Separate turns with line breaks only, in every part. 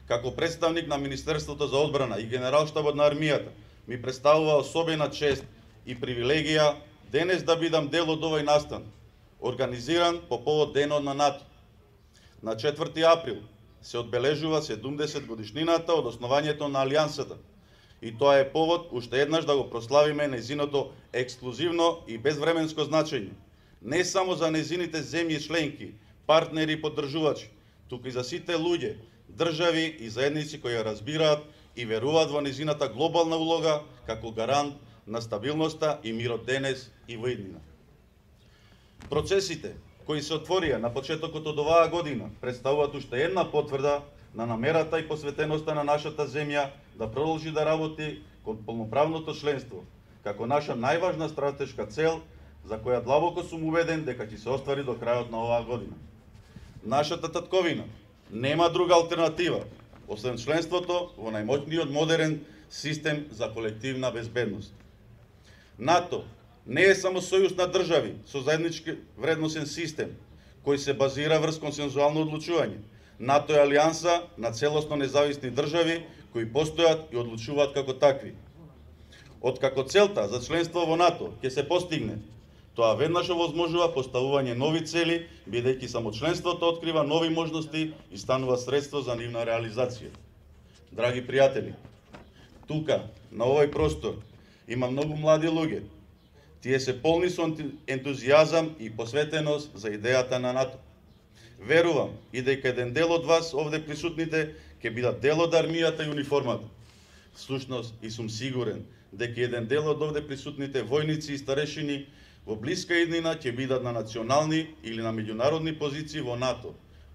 како представник на Министерството за одбрана и Генералштабот на армијата, ми представува особена чест и привилегија денес да бидам дел од овој настан, организиран по повод Денот на НАТО. На 4 април се одбележува 70 годишнината од основањето на Алијансата, и тоа е повод уште еднаш да го прославиме нејзиното ексклузивно и безвременско значење, не само за нејзините земји членки, партнери и поддржувачи, туку и за сите луѓе, држави и заедници кои ја разбираат и веруваат во нејзината глобална улога како гарант на стабилноста и мирот денес и во иднина. Процесите кои се отворија на почетокот од оваа година представуваат уште една потврда на намерата и посветеноста на нашата земја да продолжи да работи кон полноправното членство, како наша најважна стратешка цел, за која длабоко сум убеден дека ќе се оствари до крајот на оваа година. Нашата татковина нема друга алтернатива, освен членството во најмоćниот модерен систем за колективна безбедност. НАТО не е само сојуз на држави со заеднички вредносен систем, кој се базира врз консензуално одлучување. НАТО е алијанса на целосно независни држави кои постојат и одлучуваат како такви. Откако целта за членство во НАТО ќе се постигне, тоа веднаш овозможува поставување нови цели, бидејќи само членството открива нови можности и станува средство за нивна реализација. Драги пријатели, тука, на овој простор, има многу млади луѓе. Тие се полни со ентузијазам и посветеност за идејата на НАТО. Верувам и дека еден дел од вас овде присутните ќе бидат дел од армијата и униформата. Всушност и сум сигурен дека еден дел од овде присутните војници и старешини во блиска иднина ќе бидат на национални или на меѓународни позиции во НАТО,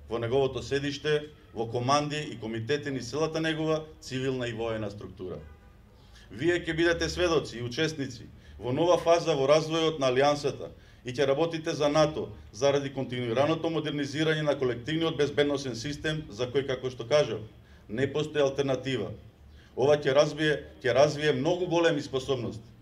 во неговото седиште, во команди и комитети низ целата негова цивилна и воена структура. Вие ќе бидете сведоци и учесници во нова фаза во развојот на Алијансата и ќе работите за НАТО заради континуираното модернизирање на колективниот безбедносен систем за кој, како што кажав, не постои алтернатива. Ова ќе развие многу големи способности.